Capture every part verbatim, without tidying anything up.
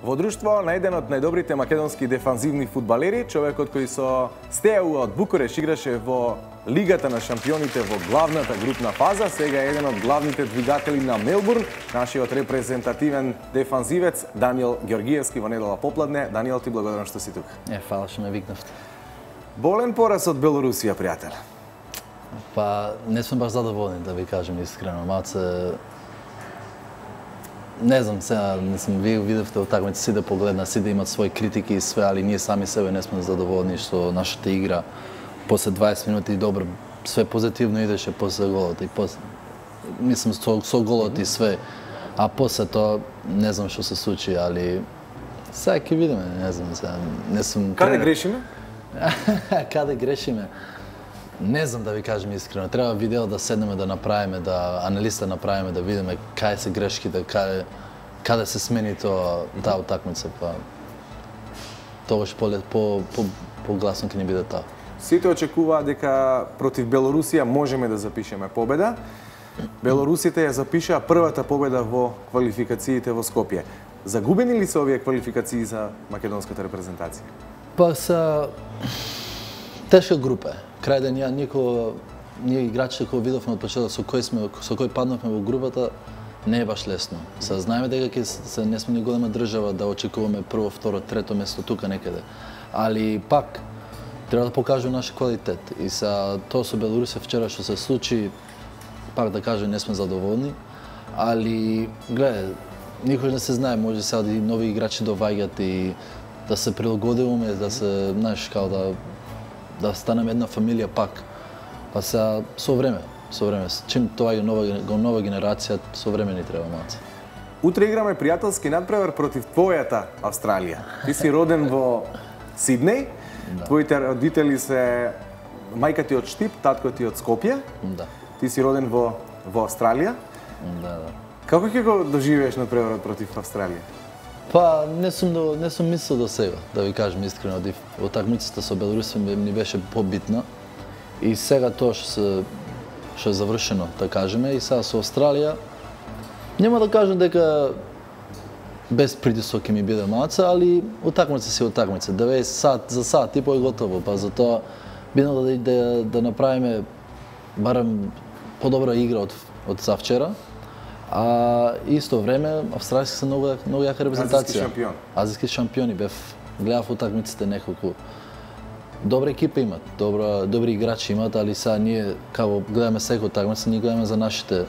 Во друштво на еден од најдобрите македонски дефанзивни фудбалери, човекот кој со Стеау од Букуреш играше во Лигата на шампионите во главната групна фаза, сега е еден од главните двигатели на Мелбурн, нашиот репрезентативен дефанзивец Даниел Ѓоргиевски во недела попладне. Даниел, ти благодарам што си тука. Е, фала што ме викнавте. Болен пораз од Белорусија, пријател. Па, не сме баш задоволни, да ви кажем искрено. Малце... Не знам, сега, не сум, вие видевте утакмица, си да погледна, си да имат своји критики и све, али ние сами себе не сме задоволни што нашата игра после дваесет минути добро, све позитивно идеше после голот и после, мислам со, со голот и све, а после тоа не знам што се случи, али сега ќе видиме, не знам сега, не сум... Каде грешиме? Каде грешиме? Не знам да ви кажем искрено, треба видео да седнеме да направиме, да аналиста направиме, да видиме каде се грешките, каде, каде се смени тоа таа утакмица, па тогаш по по по погласно ќе ни биде тоа. Сите очекуваат дека против Белорусија можеме да запишеме победа. Белорусите ја запишаа првата победа во квалификациите во Скопје. Загубени ли се овие квалификации за македонската репрезентација? Па са тешка група. Крај ден ја никој ние играчите кои видовме од почеток со кои сме со кои паднавме во групата не е баш лесно. Се знаеме дека ќе се не сме ни голема држава да очекуваме прво, второ, трето место тука некаде. Али пак треба да покажеме наш квалитет. И са тоа со Белорусија вчера што се случи, пак да кажем не сме задоволни, али гледај, никош не се знае, може сега и нови играчи доаѓаат и да се прилагодуваме, да се, знаеш, као да да станеме една фамилија пак. Па сега со време, со време, чим тоа е нова нова генерација, со време ни треба малце. Утре играме пријателски надпревар против твојата Австралија. Ти си роден во Сиднеј, да. Твоите родители се мајка ти од Штип, татко ти од Скопје. Да. Ти си роден во во Австралија. Да, да. Како ќе го доживееш надпреварот против Австралија? Па не сум до, не сум мислел до сега, да ви кажам искрено, утакмицата со Белорусија ми беше побитна. И сега тоа што се што е завршено, да кажеме, и сега со Австралија нема да кажам дека без притисок ќе ми биде малце, али утакмица си утакмица. деветдесет сат за сат и по е готово, па затоа бидно да, да, да направиме барем подобра игра од од завчера. А исто време австралијски се многу многу јака репрезентација. Азиски шампион. Азиски шампиони бев гледав утакмиците неколку. Добра екипа имат, добра добри играчи имат, али сега ние како гледаме секој утакмица, ние гледаме за нашите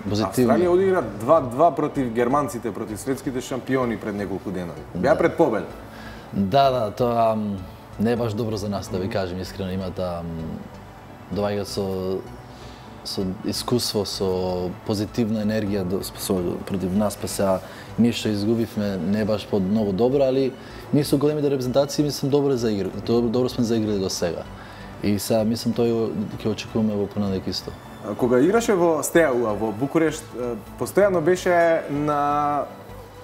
позитивни. Австралија одигра два-два против германците, против светските шампиони пред неколку денови. Беа Да. пред победа. Да, да, тоа не е баш добро за нас, да ви кажем искрено, имат доаѓаат со со искуство, со позитивна енергија до, со, против нас, па сега ние што изгубивме не е баш под многу добро, али ние со големите репрезентации мислам добро за игра, добро, добро сме заиграли до сега. И сега мислам тој ќе очекуваме во понеделник исто. Кога играше во Стеау, во Букурешт, постојано беше на,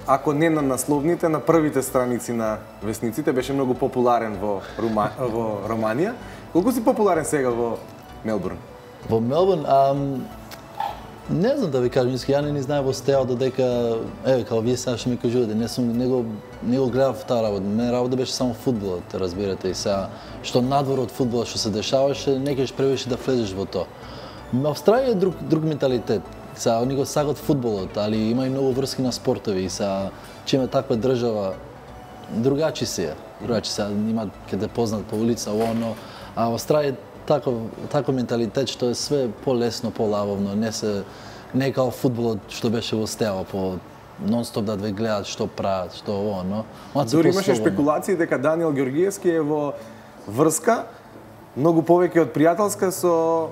ако не на насловните, на првите страници на весниците, беше многу популарен во Рума, во Романија. Колку си популарен сега во Мелбурн? Во Мелбурн, ам, не знам да ви кажам, ја не ни знае во Стеау додека, еве, као вие сега што ми кажувате, не сум, не го, не го гледав таа работа. Мене работа беше само фудбалот, разбирате, и сега, што надвор од фудбалот што се дешаваше, не кеш превише да влезеш во тоа. Австралија е друг, друг менталитет. Сега, они го сагат фудбалот, али има и многу врски на спортови, и сега, че има таква држава, другачи се, другачи се, има ке те познат по улица, оно, а Австралија таков таков менталитет што е све полесно, полавовно, не се не као фудбалот што беше во Стеава по нон-стоп да ве гледаат што прават, што оно. Дури имаше спекулации дека Даниел Ѓоргиевски е во врска многу повеќе од пријателска со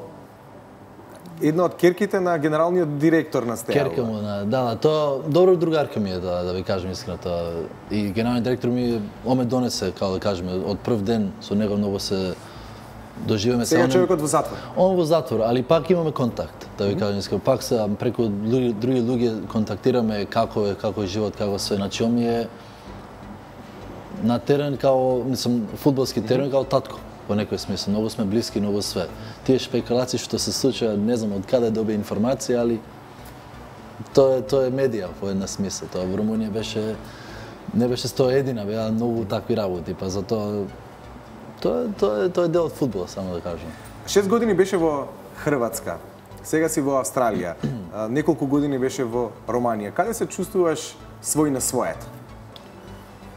една од керките на генералниот директор на Стеава. Керка му, да, да, тоа добро другарка ми е, да, да ви кажем искрено тоа. И генералниот директор ми оме донесе, како да кажеме, од прв ден со него многу се доживеме. Сега човекот во затвор. Он во затвор, али пак имаме контакт, да ви кажам искрено. Пак се преку други, други луѓе контактираме како е, како е живот, како се. Значи, он ми е на терен као, мислам, фудбалски терен као татко. Во некој смисла, многу сме блиски, многу све. Тие шпекулации што се случува, не знам од каде добија информација, али тоа е тоа е медија во една смисла. Тоа во Румунија беше Не беше сто едина, беа многу такви работи, па затоа тоа тоа тоа е дел од фудбалот, само да кажам. Шест години беше во Хрватска. Сега си во Австралија. Неколку години беше во Романија. Каде се чувствуваш свој на својот?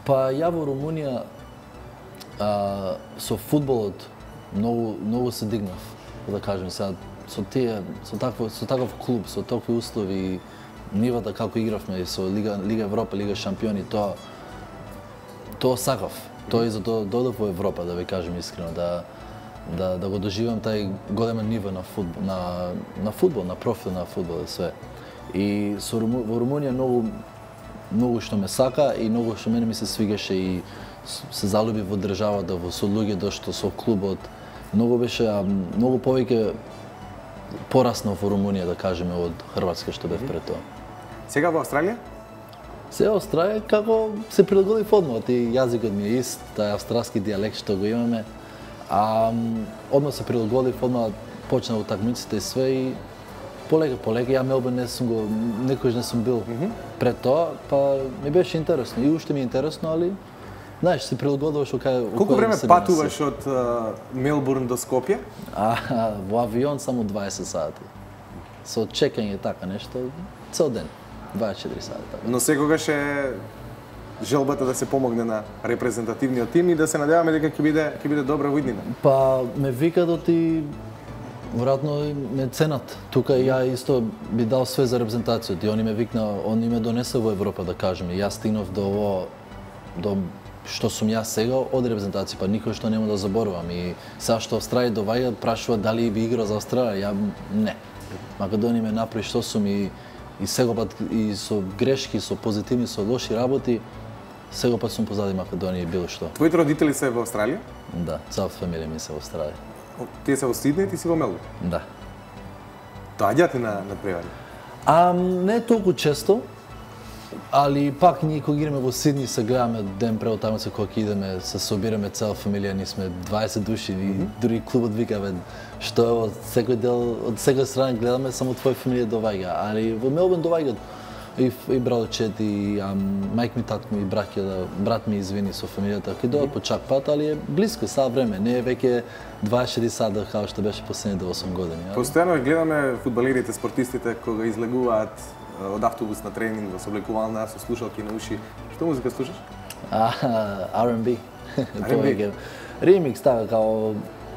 Па ја во Румунија а, со фудбалот многу многу се дигнав, да кажем сега со тие со такво со таков клуб, со такви услови, нивата како игравме со Лига Лига Европа, Лига шампиони, тоа тоа сакав. Тоа и затоа додов во Европа, да ви кажем искрено, да да да го доживам тај голема ниво на фудбал, на на фудбал, на профил на фудбал и све. И со Руму, во Румунија многу многу што ме сака и многу што мене ми се свигаше и се залюби во државата, во со луѓето што со клубот. Многу беше а, многу повеќе пораснав во Румунија, да кажеме, од Хрватска што бев пред тоа. Сега во Австралија? Сега Австралија како се прилагодив одмah, и јазикот ми е ист, тај австралски дијалект што го имаме. А одмah се прилагодив, одмah почнав утакмиците и све и полека полека ја Мелбурн не сум го некојаш не сум бил mm -hmm. пред тоа, па ми беше интересно и уште ми е интересно, али знаеш, се прилагодуваш кај колку време патуваш од uh, Мелбурн до Скопје? А, во авион само дваесет сати. Со чекање така нешто цел ден, дваесет и четири сати. Така. Но секогаш е желбата да се помогне на репрезентативниот тим и да се надеваме дека ќе биде ќе биде добра во иднина. Па ме викаат и вратно ме ценат. Тука ја исто би дал све за репрезентацијата и они ме викна, они ме донесе во Европа, да кажеме. Јас стигнав до ово до што сум јас сега од репрезентација, па никој што нема да заборавам. И сега што Австралија доваѓа, прашува дали би играл за Австралија, ја не. Македонија ме направи што сум и и сегопат и со грешки, со позитивни, со лоши работи, сегопат сум позади Македонија и било што. Твоите родители се во Австралија? Да, цела фамилија ми се во Австралија. Тие се во Сиднеј и ти си во Мелбурн? Да. Доаѓате на на превари? А не толку често, али пак ние кога идеме во Сидни се гледаме ден пред утакмица кога ќе идеме, се собираме цела фамилија, ние сме дваесет души и mm -hmm. дури клубот викаме што е од секој дел, од секоја страна гледаме, само твоја фамилија доваѓа, али во Мелбурн доваѓаат и и братчет и ам, мајк ми, тат ми, браќа, брат ми извини со фамилијата, ќе доаѓаат по чак пат, али е блиско сад време, не е веќе дваесет и четири сата како што беше последните осум години. Постојано гледаме фудбалерите, спортистите кога излегуваат од автобус на тренинг, во сооблекувална, со слушалки на уши. Што музика слушаш? А, Ар енд Би. Повеќе ремикс, така као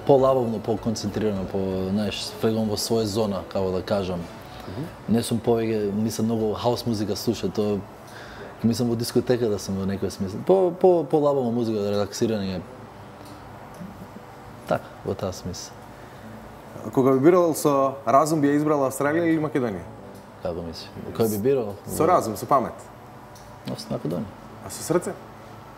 полабавно, поконцентрирано, по, знаеш, фрегом во своја зона, како да кажам. Mm -hmm. Не сум повеќе, мислам многу хаус музика слуша, тоа мислам во дискотека да сум во некој смисла. По по полабавна музика, релаксирање. Така, во таа смисла. Кога би бирал со разум, би ја избрал Австралија или Македонија? Како мислиш? Кој би бирал? Со разум, со памет. Но со Македонија. А со срце?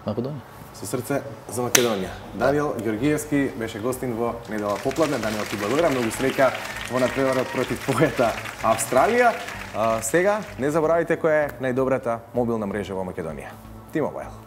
Македонија. Со срце за Македонија. Даниел Ѓоргиевски беше гостин во недела попладне. Даниел, ти благодарам, многу среќа во надпреварот против твојата Австралија. А, сега не заборавајте која е најдобрата мобилна мрежа во Македонија. T-Mobile.